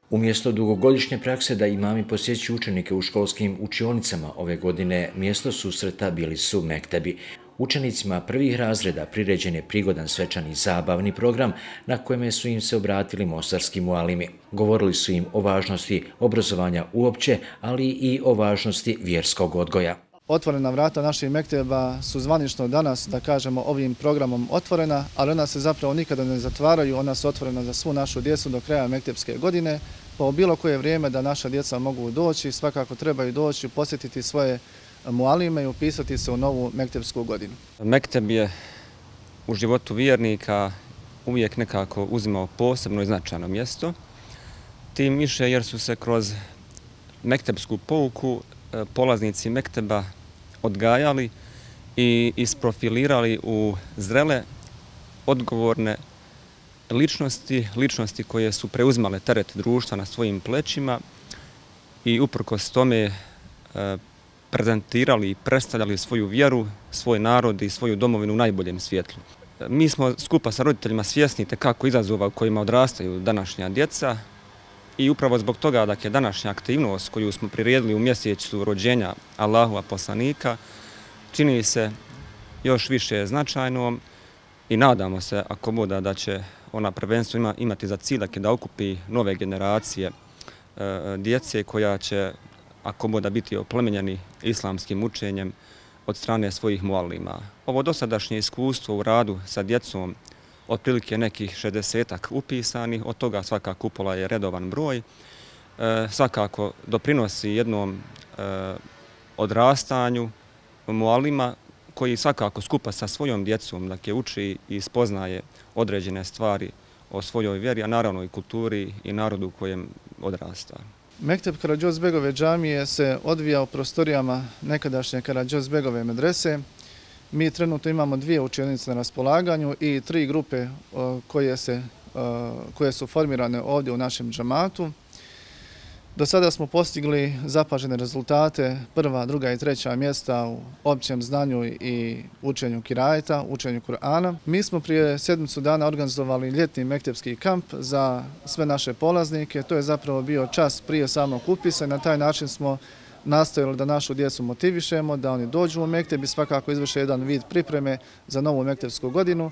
Umjesto dugogodišnje prakse da imami posjećuju učenike u školskim učionicama, ove godine mjesto susreta bili su mektebi. Učenicima prvih razreda priređen je prigodan svečani zabavni program na kojem su im se obratili mostarski mualimi. Govorili su im o važnosti obrazovanja uopće, ali i o važnosti vjerskog odgoja. Otvorena vrata naših mekteba su zvanično danas, da kažemo, ovim programom otvorena, ali ona se zapravo nikada ne zatvaraju, ona su otvorena za svu našu djecu do kraja mektepske godine. Po bilo koje vrijeme da naša djeca mogu doći, svakako trebaju doći, posjetiti svoje mualime i upisati se u novu mektepsku godinu. Mekteb je u životu vjernika uvijek nekako uzimao posebno i značajno mjesto, tim više jer su se kroz mektepsku pouku polaznici mekteba odgajali i isprofilirali u zrele, odgovorne ličnosti koje su preuzimale teret društva na svojim plećima i uprkos tome prezentirali i predstavljali svoju vjeru, svoj narod i svoju domovinu u najboljem svjetlu. Mi smo skupa sa roditeljima svjesni kako izazova u kojima odrastaju današnja djeca i upravo zbog toga današnja aktivnost koju smo priredili u mjesecu rođenja Allahova poslanika čini se još više značajnom i nadamo se, ako bude, da će ona prvenstveno imati za cilj da okupi nove generacije djece koja će, ako bude, biti oplemenjeni islamskim učenjem od strane svojih mualima. Ovo dosadašnje iskustvo u radu sa djecom, otprilike nekih 60-ak upisanih, od toga svaka kupola je redovan broj, svakako doprinosi jednom odrastanju mualima koji svakako skupa sa svojom djecom uči i spoznaje određene stvari o svojoj vjeri, a naravno i kulturi i narodu u kojem odrasta. Mekteb Karađozbegove džamije se odvija u prostorijama nekadašnje Karađozbegove medrese. Mi trenutno imamo 2 učionice na raspolaganju i 3 grupe koje su formirane ovdje u našem džamatu. Do sada smo postigli zapažene rezultate, 1., 2. i 3. mjesta u općem znanju i učenju kirajeta, učenju Kur'ana. Mi smo prije sedmicu dana organizovali ljetni mektepski kamp za sve naše polaznike. To je zapravo bio čas prije samog upisa i na taj način smo nastojali da našu djecu motivišemo, da oni dođu u mekteb i svakako izvrše jedan vid pripreme za novu mektepsku godinu.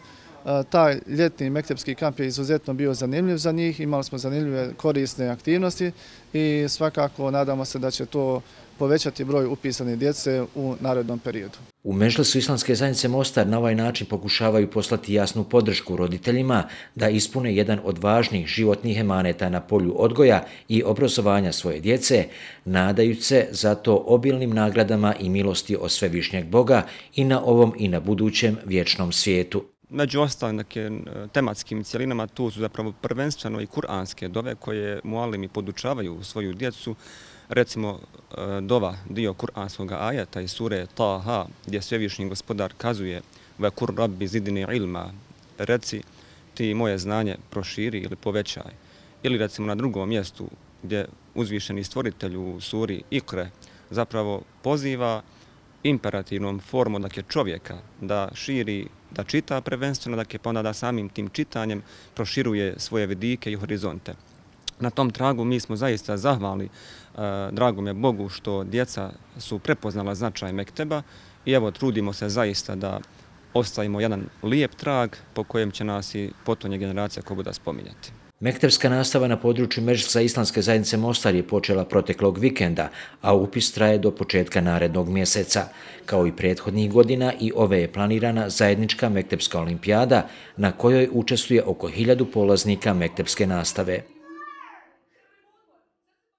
Taj ljetni mektepski kamp je izuzetno bio zanimljiv za njih, imali smo zanimljive korisne aktivnosti i svakako nadamo se da će to povećati broj upisane djece u narednom periodu. U Medžlisu Islamske zajednice Mostar na ovaj način pokušavaju poslati jasnu podršku roditeljima da ispune jedan od važnih životnih emaneta na polju odgoja i obrazovanja svoje djece, nadajući se zato obilnim nagradama i milosti od svevišnjeg Boga i na ovom i na budućem vječnom svijetu. Među ostalim tematskim cjelinama tu su zapravo prvenstveno i kuranske dove koje mualimi podučavaju svoju djecu. Recimo dova, dio kuranskog ajeta iz sure Taha, gdje svevišnji gospodar kazuje ve kur rabbi zidni ilma, reci ti moje znanje proširi ili povećaj. Ili recimo na drugom mjestu gdje uzvišeni stvoritelj u suri Ikre zapravo poziva imperativnom formom čovjeka da širi, da čita prvenstveno, pa onda da samim tim čitanjem proširuje svoje vidike i horizonte. Na tom tragu mi smo zaista zahvalni dragome Bogu što djeca su prepoznala značaj mekteba i evo trudimo se zaista da ostavimo jedan lijep trag po kojem će nas i potonje generacija ko bude spominjati. Mektepska nastava na području Medžlisa Islamske zajednice Mostar je počela proteklog vikenda, a upis traje do početka narednog mjeseca. Kao i prethodnih godina i ove je planirana zajednička mektepska olimpijada na kojoj učestvuje oko 1000 polaznika mektepske nastave.